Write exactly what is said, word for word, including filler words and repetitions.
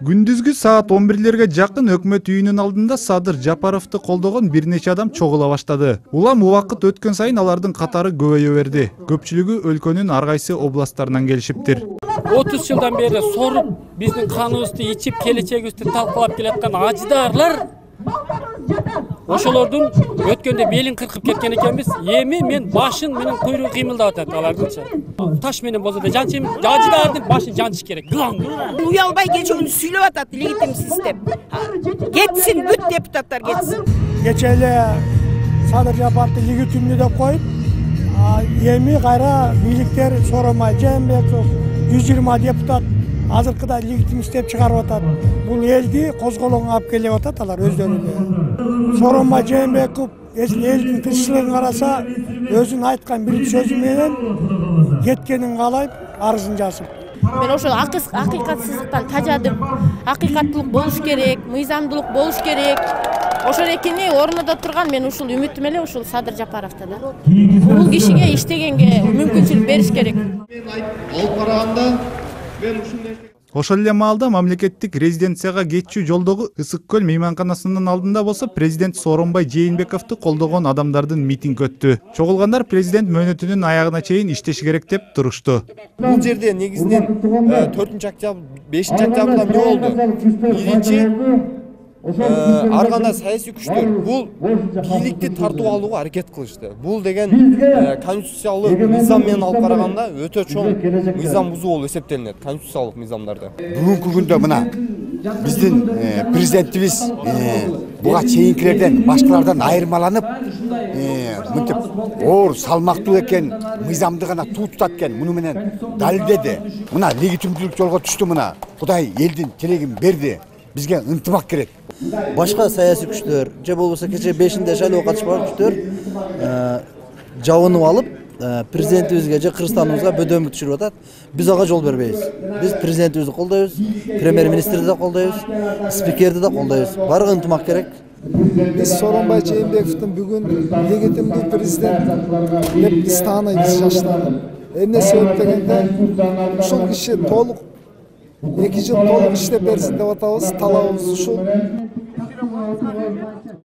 Күндүзгү саат он бирлерге жакын өкмөт үйүнүн алдында Садыр Жапаровду колдогон бир нече адам чогула баштады. Улам убакыт өткөн сайын алардын катары көбөйө берди. Көпчүлүгү өлкөнүн ар кайсы областтарынан келишиптир. отуз жылдан бери соруп, биздин каныбызды ичип, келечегибизди талкалап келаткан аждаарлар ошолордун өткөндө белин кыркып кеткен экенбиз. Эми мен башын менен куйругу кыймылдап атат алардынча. Таш менен болсо да жанчым, аждаардын башын жанчыш керек. Уялбай кечүүнү сүйлөп атат легитимсиз деп. Кетсин, бүт депутаттар кетсин. Кече эле Садыр Жапаровду легитимдүү деп коюп, эми кайра бийликтер Сооронбай Жээнбеков жүз жыйырма депутат азыркыда легитим иштеп чыгарып атат. Бул элди козголоңго алып келип атат алар өздөрү эле. Сооронбай Жээнбеков элдин тынччылыгын караса, өзүнүн айткан бир сөзү менен кеткенин каалайт, арызын жазып. Мен ошол акыйкатсыздыктан тажадым. Акыйкаттуулук болуш керек, мыйзамдуулук болуш керек. Ошол экени орнунда турган мен ушул үмүтүм эле ушул Садыр Жапаровдо да. Бул кишиге иштегенге мүмкүнчүлүк бериш керек. Алып караганда мен ушундай Ошол эле маалда мамлекеттик резиденцияга кетчү жолдогу Ысык көл мейманканасынын алдында болсо президент Сооронбай Жээнбековду колдогон адамдардын митинг өттү. Чогулгандар президент мөөнөтүнүн аягына чейин иштеш керек деп турушту. Бул жерде негизинен төртүнчү октябрь, бешинчи октябрда эмне болду? Биринчи ар кандай саясий күчтөр бул бийликти тартып алууга аракет кылышты. Бул деген конституциялык мыйзам менен алып караганда өтө чоң мыйзам бузуу болуп эсептелинет, конституциялык мыйзамдарды. Бүгүнкү күндө мына биздин президентибиз буга чейинкилерден, башкалардан айырмаланып, мынтип оор, салмактуу экен, мыйзамды гана туутат экен, муну менен далилдеди. Мына легитимдүүлүк жолго түштү мына. Кудай элдин тилегин берди. Бизге ынтымак керек. Башка саясий күчтөр же болбосо кече бешинде шайлоого катышпаган күчтөр жабынып алып, президентибизге же Кыргызстаныбызга бөдөмүк түшүрүп атат. Биз ага жол бербейбиз. Биз президентибизди колдойбуз, премьер-министрди да колдойбуз, спикерди да колдойбуз. Баарыгы ынтымак керек. Биз Сооронбай Жээнбековдун бүгүн легитимдүү президент деп биз тааныйбыз жаштан. Эмне себеп дегенде, ушул киши толук эки жыл толук иштеп берсин деп атабыз, талабыбыз ушул.